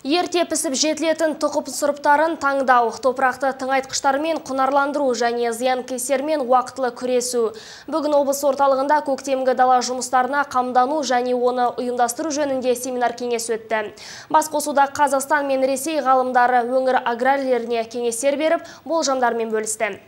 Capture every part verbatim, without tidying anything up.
Ерте пісіп жетілетін тұқым сұрыптарын таңдау, топырақты тыңайтқыштармен құнарландыру және зиянкестермен уақытылы күресу. Бүгін облыс орталығында көктемгі дала жұмыстарына қамдану және оны ұйымдастыру жөнінде семинар кеңес өтті. Басқосуда Қазақстан мен Ресей ғалымдары өңір аграрийлеріне кеңестер беріп, болжамдармен бөлісті.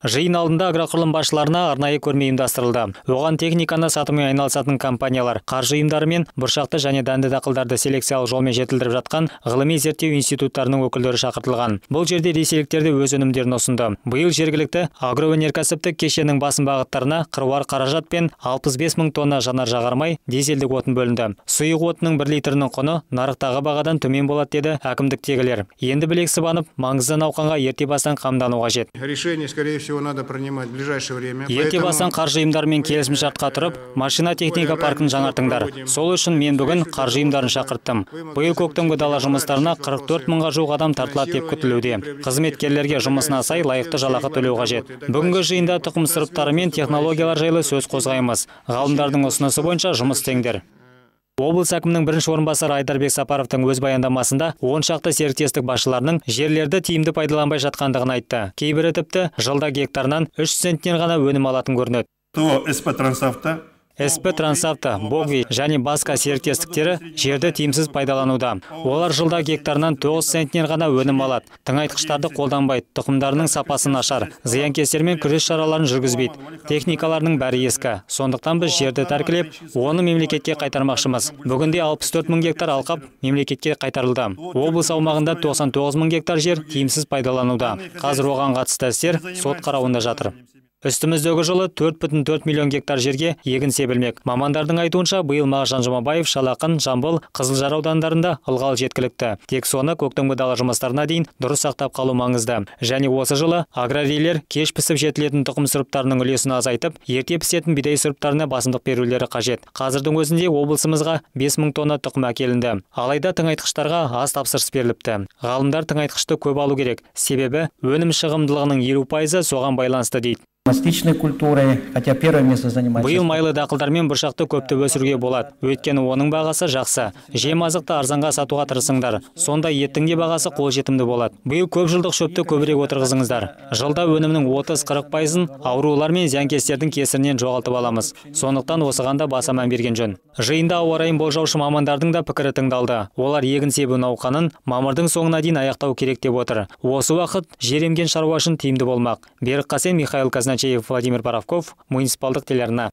Жиын алдында агроқұрылым басшыларына арнайы көрме ұйымдастырылды. Оған техниканы сатумен айналысатын компаниялар, қаржы ұйымдары мен бұршақты және дәнді дақылдарды селекциялық жолмен жетілдіріп жатқан ғылыми зерттеу институттарының өкілдері шақыртылған. Бұл жерде ресейліктер де өз өнімдерін ұсынды. Биыл жергілікті агроөнеркәсіптік кешеннің басым бағыттарына қыруар қаражат пен алпыс бес мың тонна жанар-жағармай дизельдік отын бөлінді. Сұйық отынның бір литрінің құны нарықтағы бағадан төмен болады деді әкімдіктегілер. Енді білек сыбанып, маңызды науқанға ерте бастан қамдану қажет. Решение, скорее всего, надо принимать в ближайшее время. Ерте бастан қаржы ұйымдарымен келісімшартқа тұрып, машина техника паркін жаңартыңдар. Сол үшін мен бүгін қаржы ұйымдарын шақырттым. Биыл көктемгі дала жұмыстарына қырық төрт мыңға жуық адам тартылады деп күтілуде. Қызметкерлерге жұмысына сай лайықты жалақы төлеу қажет. Бүгінгі жиында тұқым сұрыптары мен технологиялар жайлы сөз қозғаймыз. Ғалымдардың ұсынысы бойынша жұмыс істеңдер. Облыс әкімінің бірінші орынбасары Айдарбек Сапаровтың өз баяндамасында он шақты серіктестік басшыларының жерлерді тиімді пайдаланбай жатқандығын айтты. Кейбірі тіпті жылда гектарынан үш центнен ғана өнім алатын көрінеді. То СП Трансавто СП Трансавто, Богви және басқа серіктестіктері жерді тиімсіз пайдалануда. Олар жылда гектарынан тоғыз центнен ғана өнім алады. Тыңайтқыштарды қолданбайды, тұқымдарының сапасы нашар, зиянкестермен күрес шараларын жүргізбейді. Техникаларының бәрі ескі. Сондықтан біз жерді тәркілеп, оны мемлекетке қайтармақшымыз. Бүгінде алпыс төрт мың гектар алқап мемлекетке қайтарылды. Облыс аумағында тоқсан тоғыз мың гектар жер тиімсіз пайдалануда. Қазір оған қатысты істер сот қарауында жатыр. Үстіміздегі жылы төрт бүтін төрт миллион гектар жерге егін себілмек. Мамандардың айтуынша, биыл Мағжан Жұмабаев, Шалақын, Жамбыл, Қызылжар аудандарында ылғал жеткілікті. Тек соны көктемгі дала жұмыстарына дейін дұрыс сақтап қалу маңызды. Және осы жылы аграрийлер кеш пісіп жетілетін тұқым сұрыптарының үлесін азайтып, ерте пісетін бидай сұрыптарына басымдық берулері қажет. Қазірдің өзінде облысымызға бес мың тонна тұқым әкелінді. Алайда тыңайтқыштарға аз тапсырыс беріліпті. Ғалымдар тыңайтқышты көп алу керек. Себебі өнім шығымдылығының елу пайызы соған байланысты дейді. Биыл майлы дақылдармен бұршақты көпті өсіруге болады. Өйткені оның бағасы жақсы. Жем азықты арзанға сатуға тырысыңдар. Сонда еттің де бағасы қолжетімді болады. Биыл көп жылдық шөпті көбірек отырғызыңыздар. Жылда өнімнің отыз қырық пайызын аурулар мен зиянкестердің кесірінен жоғалтып аламыз. Сондықтан осыған да баса мән берген жөн. Жиында ауа райын болжаушы мамандардың да пікірі тыңдалды. Олар егін себу науқанын мамырдың соңына дейін аяқтау керек деп отыр. Осы уақыт жер емген шаруа үшін тиімді болмақ. Берік Қасен, Михаил Казначеев, Владимир Боровков, муниципалдық телеарна.